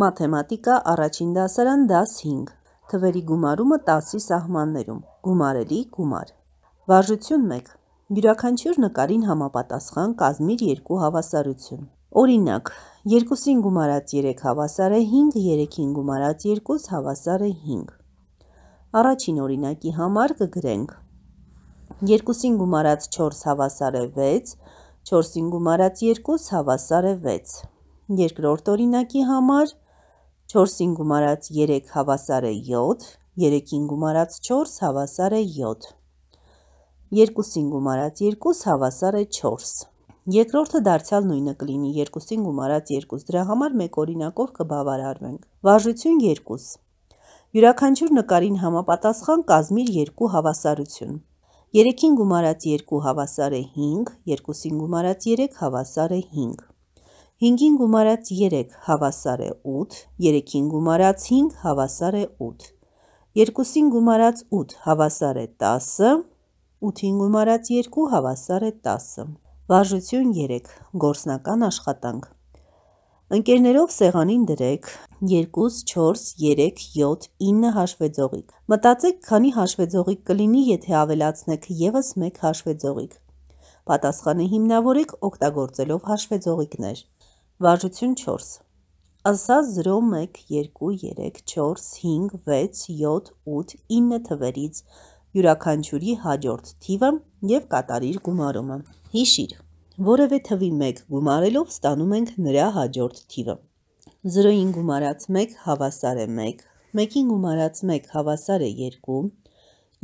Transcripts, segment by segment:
Մաթեմատիկա առաջին դասարան դաս 5 Թվերի գումարումը 10-ի սահմաններում Գումարելի գումար Վարժություն 1 Յուրաքանչյուր նկարին համապատասխան կազմիր 2 հավասարություն Օրինակ 2-ին գումարած 3 հավասար է 5 3-ին գումարած 2 հավասար է 5 Առաջին օրինակի համար կգրենք 2-ին գումարած 4 հավասար է 6 4-ին գումարած 2 հավասար է 6 Երկրորդ օրինակի համար 4-ին գումարած 3 հավասար է 7 3-ին գումարած 4 հավասար է 7 2-ին գումարած 2 հավասար է 4 Երկրորդը դարձյալ նույնը կլինի 2-ին գումարած 2 դրա համար մեկ օրինակով կբավարարվենք Վարժություն 2 Յուրաքանչյուր նկարին համապատասխան կազմիր 2 հավասարություն 3-ին գումարած 2 հավասար է 5 2-ին գումարած 3 հավասար է 5 5-ին գումարած 3 հավասար է 8 3-ին գումարած 5 հավասար է 8 2-ին գումարած 8 հավասար է 10 8-ին գումարած 2 հավասար է 10 Վարժություն 3 Գործնական աշխատանք Ընկերներով սեղանին դրեք 2, 4, 3, 7, 9 հաշվեձողիկ Մտածեք քանի հաշվեձողիկ կլինի եթե ավելացնեք ևս մեկ հաշվեձողիկ Պատասխանը հիմնավորեք օգտագործելով հաշվեձողիկներ Վարժություն 4 Ասա 0, 1, 2, 3, 4, 5, 6, 7, 8, 9 թվերից յուրաքանչյուրի հաջորդ թիվը և կատարիր գումարումը Հիշիր, որևէ թվի 1 գումարելով ստանում ենք նրա հաջորդ թիվը 0-ին գումարած 1 հավասար է 1 1-ին գումարած 1 հավասար է 2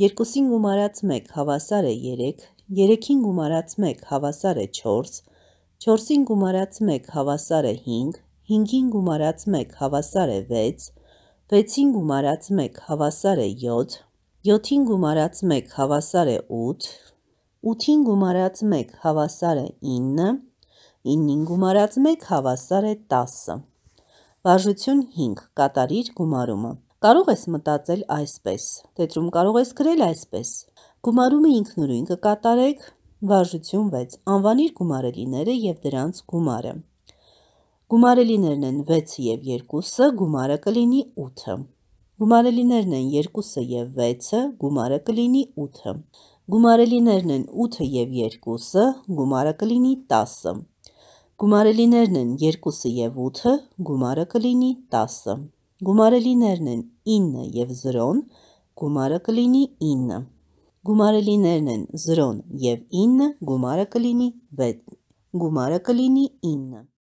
2-ին գումարած 1 հավասար է 3 3-ին գումարած 1 հավասար է 4 4-ին գումարած 1 հավասար է 5 5-ին գումարած 1 հավասար է 6 6-ին գումարած 1 հավասար է 7 7-ին գումարած 1 հավասար է 8 8-ին գումարած 1 հավասար է 9 9-ին գումարած 1 հավասար է 10 Վարժություն 5 Կատարիր գումարումը Կարող ես մտածել այսպես Տետրում կարող ես գրել այսպես Գումարումը ինքնուրույն կկատարեք Վարժություն 6 Անվանիր գումարելիները և դրանց գումարը Գումարելիներն են 6-ը և 2-ը, գումարը կլինի 8-ը Գումարելիներն են 2-ը և 6-ը, գումարը կլինի 8-ը Գումարելիներն են 8-ը և 2-ը, գումարը կլինի 10-ը Գումարելիներն են 2-ը և 8-ը, գումարը կլինի 10-ը Գումարելիներն են 9-ը և 0-ն, գումարը կլինի 9 Գումարելիներն են 0-ն և 9-ը, գումարը կլինի 9